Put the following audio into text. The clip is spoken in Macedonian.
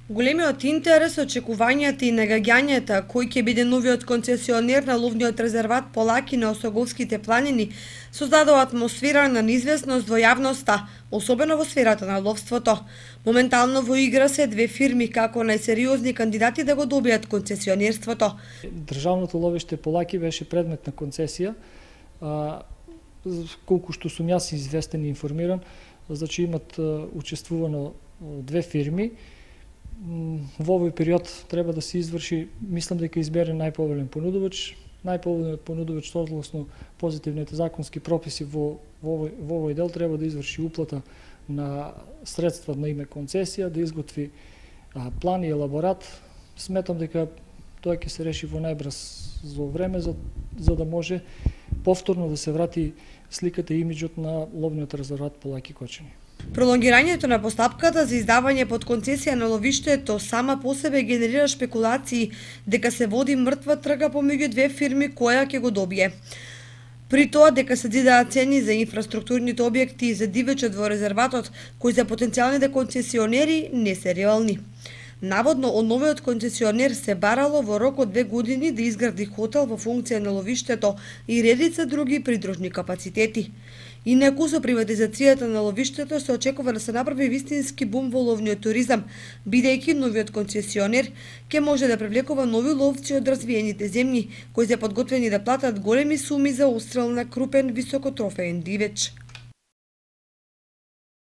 Големиот интерес, очекувањата и нагаѓањата кој ќе биде новиот концесионер на ловниот резерват Полаки на Осоголските планини создадува атмосфера на неизвестност во јавноста, особено во сферата на ловството. Моментално во игра се две фирми како најсериозни кандидати да го добијат концесионерството. Државното ловиште Полаки беше предмет на концесија, колку што сум јас известен и информиран, значи имат учествувано две фирми. Во овој период треба да се изврши, мислам дека избере најповолен понудувач. Најповолниот понудувач согласно позитивните законски прописи во овој дел треба да изврши уплата на средства на име концесија, да изготви план и елаборат. Сметам дека тоа ќе се реши во најбрзо време за да може повторно да се врати сликата и имиџот на ловниот резерват Полаки Кочани. Пролонгирањето на постапката за издавање под концесија на ловиштето сама по себе генерира шпекулации дека се води мртва трга помеѓу две фирми која ќе го добие. При тоа дека се дидаа цени за инфраструктурните објекти и за дивечот во резерватот, кои за потенцијалните концесионери не се реални. Наводно, од новиот концесионер се барало во рок од 2 години да изгради хотел во функција на ловиштето и редица други придружни капацитети. Инаку со приватизацијата на ловиштето се очекува да се направи вистински бум во ловниот туризам, бидејќи новиот концесионер ќе може да привлекува нови ловци од развиените земји, кои се подготвени да платат големи суми за отстрел на крупен високотрофеен дивеч.